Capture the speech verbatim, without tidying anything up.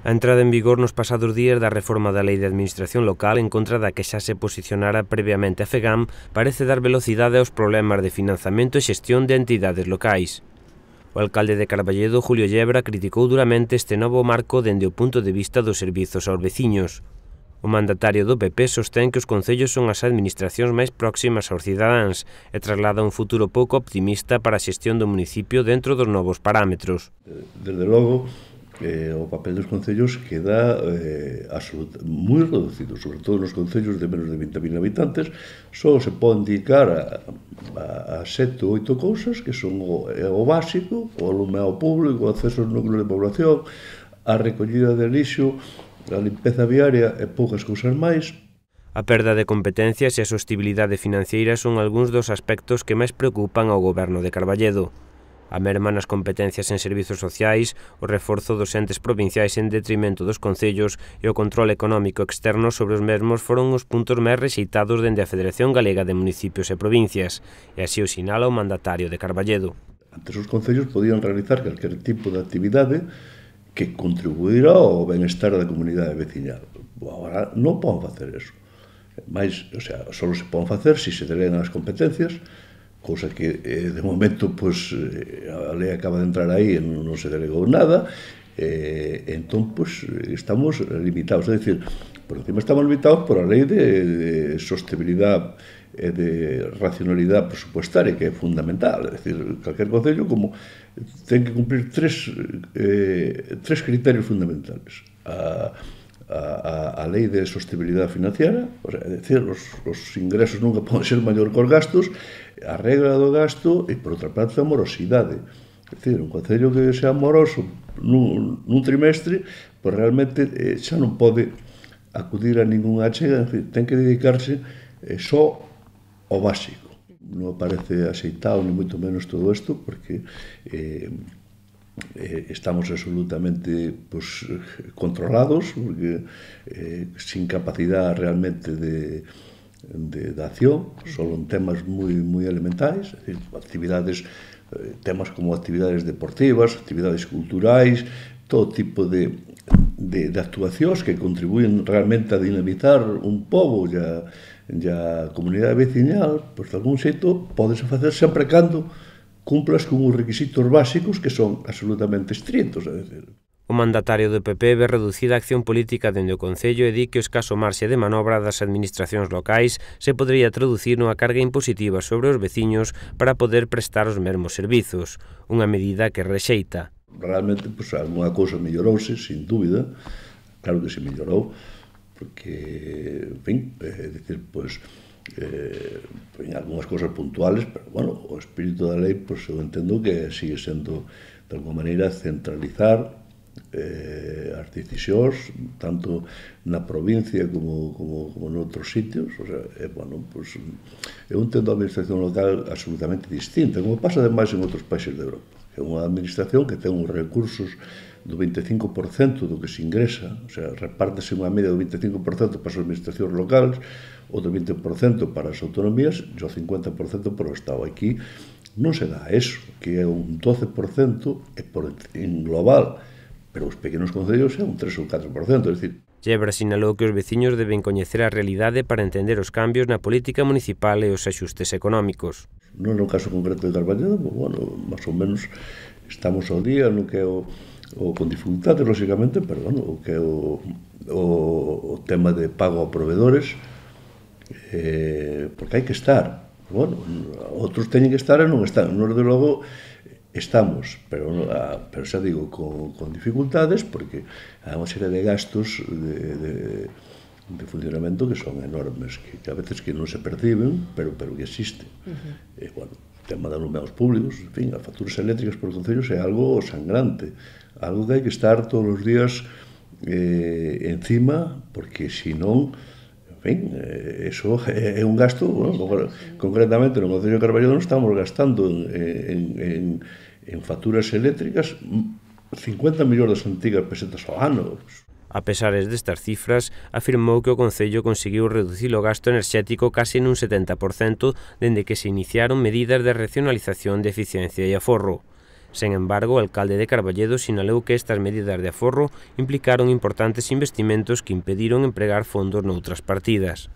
A entrada en vigor nos pasados días da reforma da Lei de Administración Local en contra da que xa se posicionara previamente a FEGAM parece dar velocidade aos problemas de financiamento e xestión de entidades locais. O alcalde de Carballedo, Julio Yebra, criticou duramente este novo marco dende o punto de vista dos servizos aos veciños. O mandatario do P P sostén que os concellos son as administracións máis próximas aos cidadáns e traslada un futuro pouco optimista para a xestión do municipio dentro dos novos parámetros. Desde logo, Eh, o papel dos concellos queda eh, absolut, moi reducido, sobre todo nos concellos de menos de vinte mil habitantes. Só se pode indicar a, a, a sete ou oito cousas que son o, o básico, o alumeado público, o acceso aos núcleos de población, a recollida de lixo, a limpeza viaria e poucas cousas máis. A perda de competencias e a sostibilidade financiera son algúns dos aspectos que máis preocupan ao goberno de Carballedo. A merma nas competencias en servizos sociais, o reforzo dos entes provinciais en detrimento dos concellos e o control económico externo sobre os mesmos foron os puntos máis rexeitados dende a Federación Galega de Municipios e Provincias, e así o sinala o mandatario de Carballedo. Antes os concellos podían realizar calquer tipo de actividade que contribuíra ao benestar da comunidade veciñal. Agora non poden facer eso. Mais, o sea, só se poden facer se se delegan as competencias, cousa que eh, de momento pues, eh, a lei acaba de entrar aí e non se delegou nada, eh, entón pues, estamos limitados, é dicir, por encima estamos limitados por a lei de, de sostenibilidade e de racionalidade presupuestaria, que é fundamental, é dicir, calquer concello como ten que cumprir tres, eh, tres criterios fundamentales. A, a, a lei de sostenibilidade financiera, o sea, é dicir, os, os ingresos nunca poden ser maior que os gastos, a regra do gasto e, por outra parte, a morosidade. É dicir, un concello que sea moroso nun, nun trimestre, pois realmente eh, xa non pode acudir a ningunha achega, en fin, ten que dedicarse eh, só ao básico. Non parece aceitado ni moito menos todo isto, porque eh, eh, estamos absolutamente pues, controlados, porque eh, sin capacidade realmente de De, de acción, solo en temas moi, moi elementais, é dicir, actividades, eh, temas como actividades deportivas, actividades culturais, todo tipo de, de, de actuacións que contribuyen realmente a dinamitar un pobo e a, e a comunidade veciñal, pois de algún xeito podese facer sempre cando cumplas con os requisitos básicos que son absolutamente estritos, é dicir. O mandatario do P P ve reducida a acción política dende o Concello e di que o escaso marxe de manobra das administracións locais se podería traducir nunha carga impositiva sobre os veciños para poder prestar os mesmos servizos, unha medida que rexeita. Realmente, pois, alguna cousa mellorouse, sin dúbida, claro que se mellorou, porque, en fin, é dicir, pois, eh, en algunhas cousas puntuales, pero, bueno, o espírito da lei, pois, eu entendo que sigue sendo, de alguma maneira, centralizar Eh, as decisións tanto na provincia como, como, como noutros sitios, o sea, eh, bueno, pues, eu entendo a administración local absolutamente distinta, como pasa ademais en outros países de Europa. É unha administración que ten uns recursos do veinticinco por cento do que se ingresa, o sea, repártese unha media do veinticinco por cento para as administracións locales, outro vinte por cento para as autonomías e o cincuenta por cento para o Estado. Aquí non se dá eso, que é un doce por cento e por, en global, pero os pequenos concellos é un tres ou catro por cento, é dicir. Yebra sinalou que os veciños deben coñecer a realidade para entender os cambios na política municipal e os axustes económicos. Non no caso concreto de Carballedo, pues, bueno, máis ou menos estamos ao día no que é o, o con dificultades, lógicamente, pero bueno, o que é o, o, o tema de pago a proveedores, eh, porque hai que estar. Bueno, outros teñen que estar e non están. Nos, de logo, estamos, pero, pero xa digo, con, con dificultades, porque hai unha serie de gastos de, de, de funcionamento que son enormes, que, que a veces que non se perciben, pero, pero que existen. Uh-huh. E, bueno, o tema de alumeados públicos, en fin, as facturas eléctricas por concellos é algo sangrante, algo que hai que estar todos os días eh, encima, porque se non, en fin, eh, eso é, é un gasto, bueno, concretamente no Concello de Carballedo non estamos gastando en, en, en en facturas eléctricas cincuenta millóns das antigas pesetas ao ano. A pesares destas cifras, afirmou que o Concello conseguiu reducir o gasto enerxético case nun setenta por cento dende que se iniciaron medidas de racionalización de eficiencia e aforro. Sen embargo, o alcalde de Carballedo sinalou que estas medidas de aforro implicaron importantes investimentos que impediron empregar fondos noutras partidas.